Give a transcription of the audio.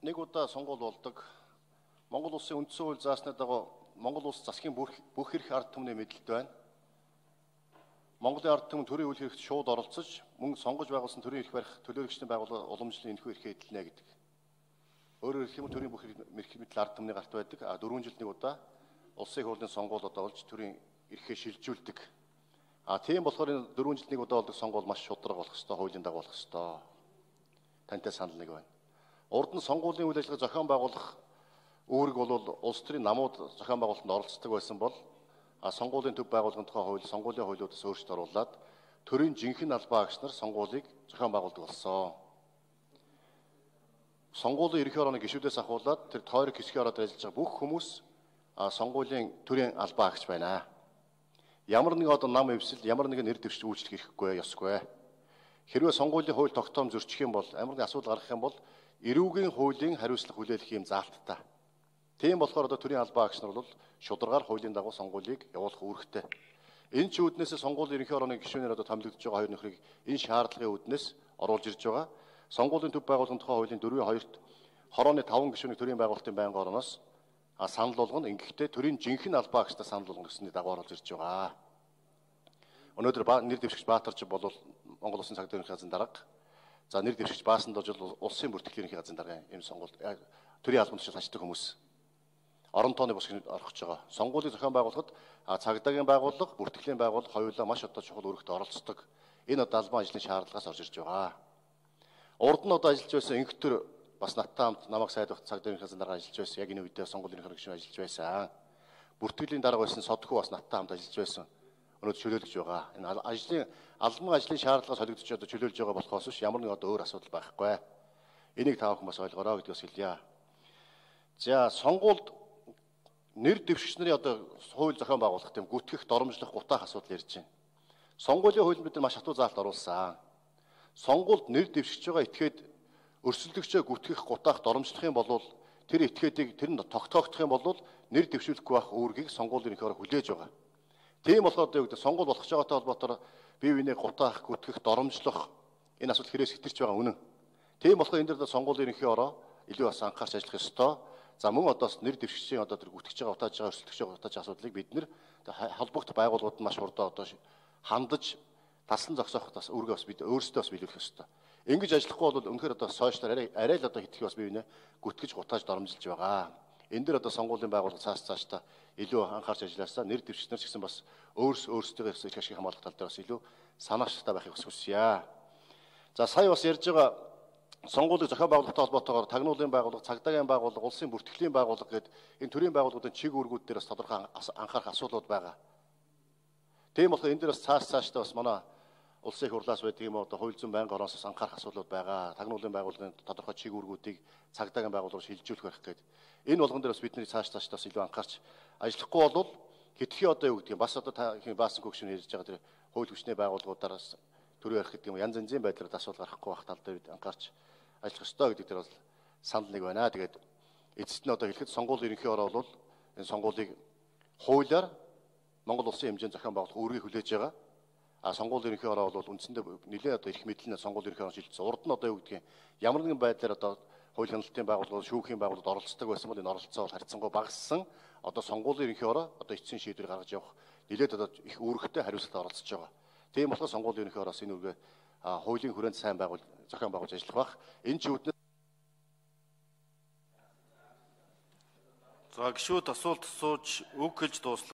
нэг удаа сонгуул болдог. Монгол улсын үндсэн хууль заасны дагуу Монгол улс засгийн бүх эрх ард түмний мэдлэлд байна. Монголын ард түмэн төрийн үйл хэрэгт шууд оролцож, мөн сонгож байгуулсан төрийн эрх барих төлөөлөгчдийн байгууллага уламжлалын энэхүү эрхээ эдэлнэ гэдэг. Өөрөөр хэлбэл төрийн бүх эрх мэдэл ард түмний гарт байдаг. 4 жилд нэг удаа улсын хурлын сонгуулиуд болж төрийн эрхээ шилжүүлдэг. Тийм болохоор 4 жилд нэг удаа болдог сонгуул маш шударга болох ёстой, хуулийн дагуу болох ёстой. Тантай санал нэг байна. Урд нь сонгуулийн үйл ажиллагаа зохион байгуулах үүрэг бол улс төрийн намууд зохион байгуулалтанд оролцдог байсан бол сонгуулийн төв байгууллагын тухай хууль, сонгуулийн хуулиудаас өөрчлөлт оруулаад төрийн жинхэнэ албаа агч нар сонгуулийг зохион байгуулдаг болсон. Сонгуулийн ерөнхий орооны гишүүдээс ахуулаад тэр тойрог хэсгийн ороод ажиллаж байгаа бүх хүмүүс сонгуулийн төрийн албаа агч байна. Ямар нэг одоо нам эвсэл, ямар нэгэн нэр дэвшиж үйлчлэх хэрэггүй, ёсгүй. Хэрвээ сонгуулийн хууль тогтоом зөрчих юм бол, ямар нэг асуудал гарах юм бол эрүүгийн хуулийн хариуцлага хүлээх юм заалттай. Тийм болохоор одоо төрийн албаа агч нар бол шударгаар хуулийн дагуу сонгуулийг явуулах үүрэгтэй. Энэ ч үүднээс сонгуулийн ерөнхий орооны гишүүнээр одоо томилогдож байгаа хоёр нөхрийг энэ шаардлагын үүднээс оруулж ирж байгаа. Сонгуулийн төв байгууллагын тухай хуулийн 4-2-т хорооны 5 гишүүнийг төрийн байгуулалтын байнгын орноос санал болгоно. Ингэхдээ төрийн жинхэнэ албаа агчтай санал болгоно гэсний дагуу оруулж ирж байгаа. Өнөөдөр нэр дэвшигч Баатарч бол Монгол Улсын цагдаа ерөнхий газрын дарга. За нэр дэвшигч Баасан Дожил улсын бүртгэлийн ерөнхий газрын дарга юм сонгуульд төрийн албанд очиж ажилладаг хүмүүс. Орон тооны босгонд орох гэж байгаа. Сонгуулийг зохион байгуулахад цагдаагийн байгууллага, бүртгэлийн байгууллага хоёулаа маш одоо чухал үүрэгт оролцдог. Энэ одоо албан ажлын шаардлагаас орж ирж байгаа. Урд нь одоо ажиллаж байсан инхтер бас надтай хамт намайг сайдварт цагдаа ерөнхий газрын дарга ажиллаж байсан. Яг энэ үедээ сонгуулийн ерөнхий гишүүн ажиллаж байсан. Бүртгэлийн дарга байсан Содхүү бас надтай хамт ажиллаж байсан. Өнөөдөр чөлөөлж байгаа. Энэ албан ажлын шаардлагаас холигдож одоо чөлөөлж байгаа болохоос биш ямар нэг одоо өөр асуудал байхгүй. Энийг та бүхэн бас ойлгоорой гэдгээс хэлье. За сонгуульд нэр дэвшигч нарын одоо хууль зохион байгуулах тийм гүтгэх, доромжлох, гутаах асуудал ярьж байна. Сонгуулийн хуулинд бид нар маш хатуу заалт оруулсан. Сонгуульд нэр дэвшигч байгаа этгээд өрсөлдөгчөө гүтгэх, гутаах, доромжлох юм бол тэр этгээдийг тэр нь тогтоогдох юм бол нэр дэвшүүлэхгүй байх үүргийг сонгуулийн ерөнхий ороо хүлээж байгаа. Тийм болохоор одоо юу гэдэг сонгуул болох ч байгаатай холбоотойгоор бие биенээ гутаах, гүтгэх, доромжлох энэ асуудал хэрэгс хэтэрч байгаа үнэн. Тийм болохоор энэ дээр сонгуулийн ерөнхий ороо илүү бас анхаарч ажиллах ёстой. За мөн одоо нэр дэвшигчийн одоо тэр гүтгэж байгаа, утааж байгаа, өрсөлдөгч байгаа, утааж асуудлыг бид нэр холбогдох байгууллагууд маш хурдан одоо хандаж таслан зогсоох бас үүргээ бас бид өөрсдөө бас биелүүлэх ёстой. Ингэж ажиллахгүй бол үнэхээр одоо сошиалар арай л одоо хитгэх бас бие биенээ гүтгэж, гутааж, доромжилж байгаа. Энэ дээр одоо сонгуулийн байгууллага цаашдаа илүү анхаарч ажилласаа нэр дэвшигчнэр ч гэсэн бас өөрсдөө эрх ашиг хамгаалах тал дээр бас илүү санаачтай байхыг хүсье. За сая бас ярьж байгаа сонгуулийг зохион байгуулалттай холбоотойгоор тагнуулын байгууллага, цагдаагийн байгууллага, улсын бүртгэлийн байгууллага гэдэг энэ төрлийн байгууллагуудын чиг үүргүүд дээр бас тодорхой анхаарах асуудлууд байгаа. Тийм болохоор энэ дээр бас цаашдаа бас манай улсын их хурлаас байдаг юм одоо хууль зүйн байнгын ороос анхаарах асуудлууд байгаа. Тагнуулын байгууллагын тодорхой чиг үүргүүдийг цагдаагийн байгууллагаар шилжүүлэх байх гэдэг. Энэ болгон дээр бас бидний цаашдаа бас илүү анхаарч ажиллахгүй бол хэтгхий одоо юу гэдэг юм бас одоо та Баасан гүгшин ярьж байгаа тэр хууль хүчний байгууллагуудаараас төрийн арх гэдэг юм янз янзын байдлаар асуудал гарахгүй байх тал дээр бид анхаарч ажиллах ёстой гэдэг дээр бол санал нэг байна. Тэгээд эцэст нь одоо хэлэхэд сонгуулийн ерөнхий ороо бол энэ сонгуулийг хуулиар Монгол улсын хэмжээнд зохион байгуулах үүргийг хүлээж байгаа. Сонгуулийн ерөнхий ороо бол үндсэндээ нэлээд одоо эрх мэдлэн сонгуулийн ерөнхий ороо шилжсэн. Урд нь одоо юу гэдгийг ямар нэгэн байдлаар одоо хууль хяналтын байгууллагууд, шүүхийн байгууллагууд оролцдог байсан бол энэ оролцоо бол харьцангуй багассан. Одоо сонгуулийн ерөнхий ороо одоо эцсийн шийдвэр гаргаж явах нэлээд одоо их үүрэгтэй хариуцлагад оролцож байгаа. Тийм болохоор сонгуулийн ерөнхий ороос энэ үргээ хуулийн хүрээнд сайн зохион байгуулж ажиллах бах. Энэ ч үүднээс за гишүүд асуулт асууж үг хэлж дуусна.